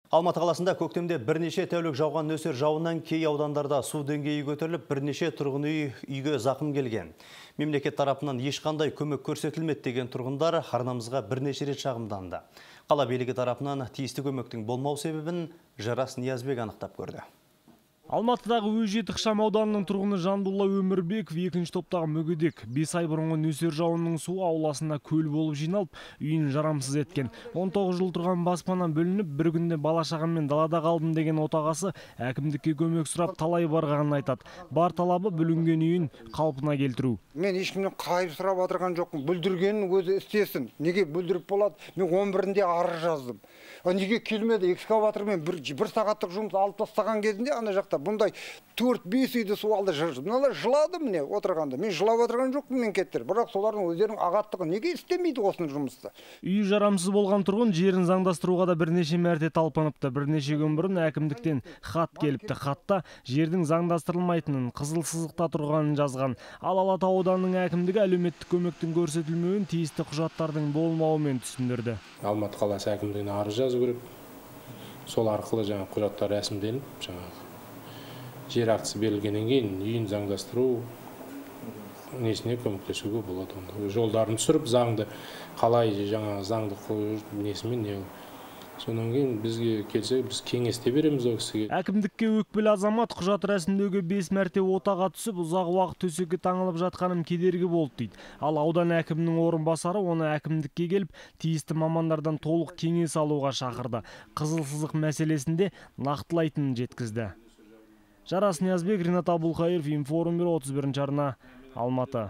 Алматы қаласында көктемде бірнеше тәулік жауған нөсер жауыннан кей аудандарда су деңгейі көтеріліп, бірнеше тұрғын үйге зақым келген. Мемлекет тарапынан ешқандай көмек көрсетілмеді деген тұрғындар арнамызға бірнеше рет шағымданды. Қала билігі тарапынан тиісті көмектің болмау себебін Жарас Ниязбек анықтап көрді. Алматыдағы Өжет ықшамауданының тұрғыны Жандулла Өмірбеков екінші топтағы мүгедек. 5 ай бұрынғы нөсер жауынның суы ауласына көл болып жиналып, үйін жарамсыз еткен. 19 жыл тұрған баспанан бөлініп, бір күнде бала-шағаммен далада қалдым деген отағасы әкімдікке көмек сұрап талай барғанын айтады. Бар талабы бүлінген үйін қалпына келтіру. Мен ешкімнен қайып сұрап отырған жоқпын. Бүлдіргенін өзі істесін. Неге бүлдіріп болады? Мен 11-інде арыз жаздым. Неге келмеді? Экскаватормен бір сағаттық жұмыс алып тастаған кезінде ана жақта бұндай 4-5 үйді су алды. Мыналар жылады міне отырғанда. Мен жылап отырған жоқпын мен кеттір. Бірақ солардың өздерінің ағаттығы неге істемейді осыны жұмысты? Үйі жарамсыз болған тұрғын жерін заңдастыруға да бірнеше мәрте талпыныпты. Бірнеше күн бұрын әкімдіктен хат келіпті. Хатта жердің заңдастырылмайтынын, қызыл сызықта тұрғанын жазған. Ал Алатау ауданының әкімдігі әлеуметтік көмектің көрсетілмеуін тиісті құжаттардың болмауымен түсіндірді. Алматы қаласы әкімдігіне арыз жазу керек. Сол арқылы жаңа құжаттар рәсімделіп, жаңа жер актісі берілгеннен кейін үйін заңдастыру несіне көмектесуге болады. Жолдарын түсіріп, заңды қалай жаңа заңды несімен не. Сонан кейін бізге келсе, біз кеңесте береміз ол кісіге. Әкімдікке өкпелі азамат құжат рәсімдеуге 5 мәрте отаға түсіп, ұзақ уақыт төсекке таңылып жатқаным кедергі болды дейді. Ал аудан әкімінің орынбасары оны әкімдікке келіп, тиісті мамандардан толық кеңес алуға шақырды. Қызыл сызық мәселесінде нақтылайтынын жеткізді. Жарас Ниязбек, Ринат Абулхаиров, Информбюро 31 арна, Алматы.